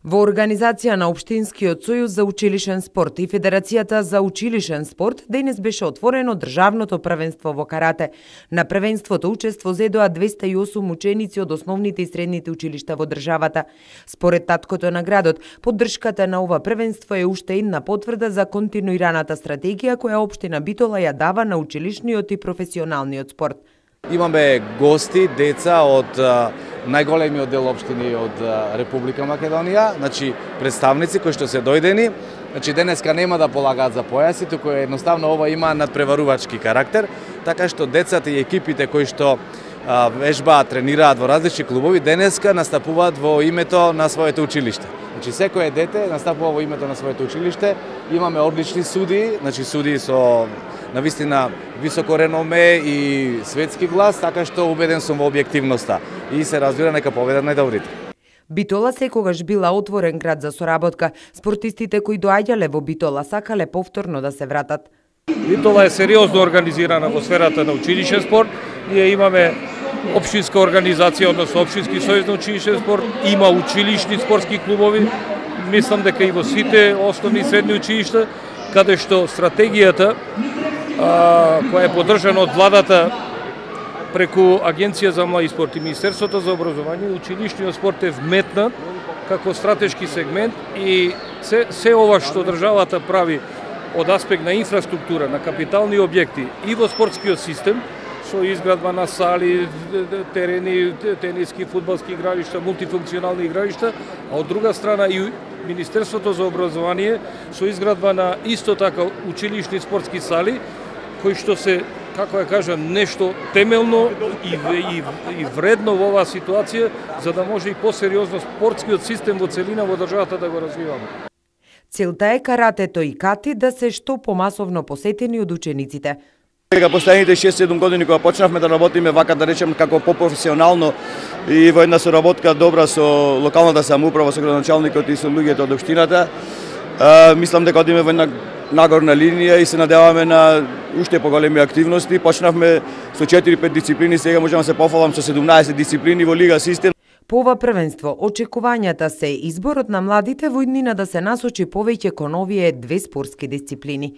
Во организација на Општинскиот сојуз за училишен спорт и Федерацијата за училишен спорт денес беше отворено државното првенство во карате. На првенството учество зедоа 208 ученици од основните и средните училишта во државата. Според таткото на градот, поддршката на ова првенство е уште една потврда за континуираната стратегија која општина Битола ја дава на училишниот и професионалниот спорт. Имаме гости, деца од најголемиот дел општини од Република Македонија, значи представници кои што се дојдени. Значи денеска нема да полагаат за појаси, туку едноставно ова има надпреварувачки карактер, така што децата и екипите кои што вежбаат, тренираат во различни клубови, денеска настапуваат во името на своето училиште. Значи секое дете настапува во името на своето училиште. Имаме одлични судии, значи судии со навистина високо реноме и светски глас, така што убеден сум во објективноста и се разбира нека победат најдобрите. Битола секогаш била отворен град за соработка. Спортистите кои доаѓале во Битола сакале повторно да се вратат. Битола е сериозно организирана во сферата на училишен спорт. Ние имаме општинска организација, односно Општински сојуз на училишен спорт, има училишни спортски клубови, мислам дека и во сите основни и средни училишта, каде што стратегијата која е поддржана од владата преку Агенција за млади спорт и Министерството за образование, училишниот спорт е вметнат како стратешки сегмент и се ова што државата прави од аспект на инфраструктура, на капитални објекти и во спортскиот систем, со изградба на сали, терени, тениски, фудбалски игралишта, мултифункционални игралишта, а од друга страна и Министерството за образование со изградба на исто така училишни спортски сали, кои што се, како ја кажам, нешто темелно и вредно во оваа ситуација, за да може и посериозно спортскиот систем во целина во државата да го развиваме. Целта е каратето и кати да се што помасовно посетени од учениците. Дека последните 6-7 години кога почнавме да работиме вака, да речем, како попрофесионално и во една соработка добра со локалната самоуправа, со градоначалникот и со луѓето од општината, мислам дека одиме во една нагорна линија и се надеваме на уште поголеми активности. Почнавме со 4-5 дисциплини, сега можам да се пофалам со 17 дисциплини во лига систем. По ова првенство, очекувањата се изборот на младите во иднина да се насочи повеќе кон овие две спортски дисциплини.